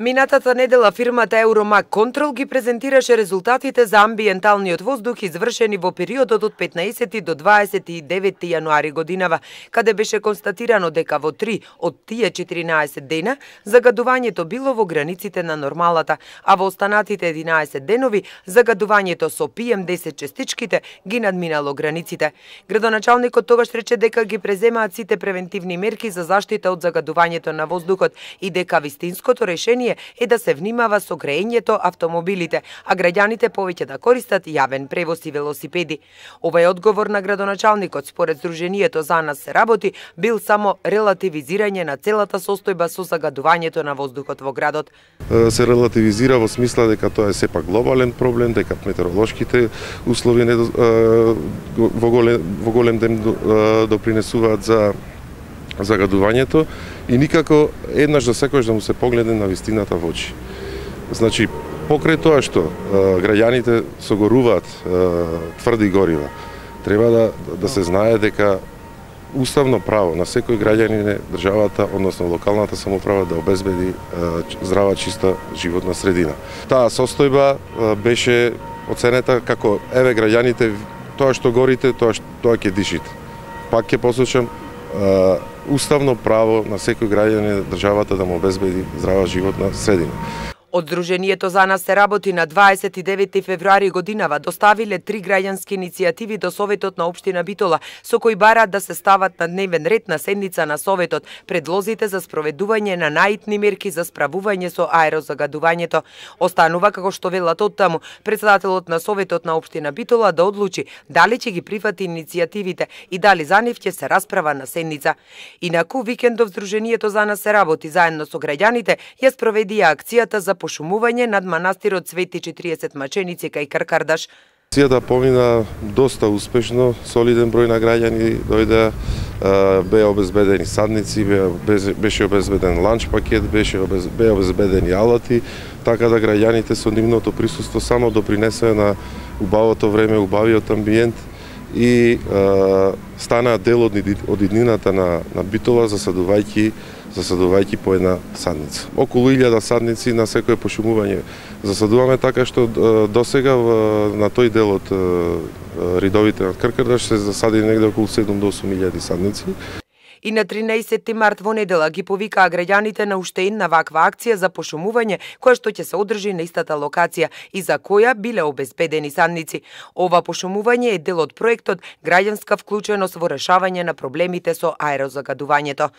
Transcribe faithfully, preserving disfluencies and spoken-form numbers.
Минатата недела фирмата Евромаг Контрол ги презентираше резултатите за амбиенталниот воздух извршени во периодот од петнаесети до дваесет и деветти јануари годинава, каде беше констатирано дека во три од тие четиринаесет дена загадувањето било во границите на нормалата, а во останатите единаесет денови загадувањето со пи ем десет частичките ги надминало границите. Градоначалникот тогаш рече дека ги преземаат сите превентивни мерки за заштита од загадувањето на воздухот и дека вистинското решение е да се внимава со греењето автомобилите, а граѓаните повеќе да користат јавен превоз и велосипеди. Овај одговор на градоначалникот според Сдруженијето За нас се работи бил само релативизирање на целата состојба со загадувањето на воздухот во градот. Се релативизира во смисла дека тоа е сепак глобален проблем, дека метеоролошките услови не во голем, во голем ден допринесуваат за загадувањето и никако еднаш за секојаш да му се погледне на вистината во очи. Значи, покрај тоа што граѓаните согоруваат тврди горива, треба да, да се знае дека уставно право на секој граѓанин е државата, односно локалната самоуправа да обезбеди здрава, чиста животна средина. Таа состојба беше оценета како еве граѓаните, тоа што горите, тоа што тоа ќе дишите. Пак ќе посочам, уставно право на секој граѓанин државата да му обезбеди здрава животна средина. Од Сдруженијето За нас се работи на дваесет и деветти февруари годинава доставиле три граѓански иницијативи до Советот на општина Битола, со кои бараат да се стават на дневен ред на седница на Советот предлозите за спроведување на наитни мерки за справување со аерозагадувањето. Останува, како што велат оттаму, председателот на Советот на општина Битола да одлучи дали ќе ги прифати иницијативите и дали за нив ќе се расправа на седница. Инаку, викендов Сдруженијето За нас се работи заедно со граѓаните ја спроведија акцијата за пошумување над манастирот Свети четириесет маченици кај Каркардаш. Акцијата помина доста успешно, солиден број на граѓани дојде, беа обезбедени садници, беше обезбеден ланч пакет, беше беа обезбедени алати, така да граѓаните со нивното присуство само допринесеа на убавото време, убавиот амбиент и станаа дел од, од иднината на, на Битола, засадувајќи засадувајќи по една садница. Околу илјада садници на секое пошумување засадуваме, така што досега на тој дел од ридовите на Каркардаш се засади негде околу седум до осум илјади садници. И на тринаесетти март во недела ги повикаа граѓаните на уште една ваква акција за пошумување, која што ќе се одржи на истата локација и за која биле обезбедени садници. Ова пошумување е дел од проектот Граѓанска вклученост во решавање на проблемите со аерозагадувањето.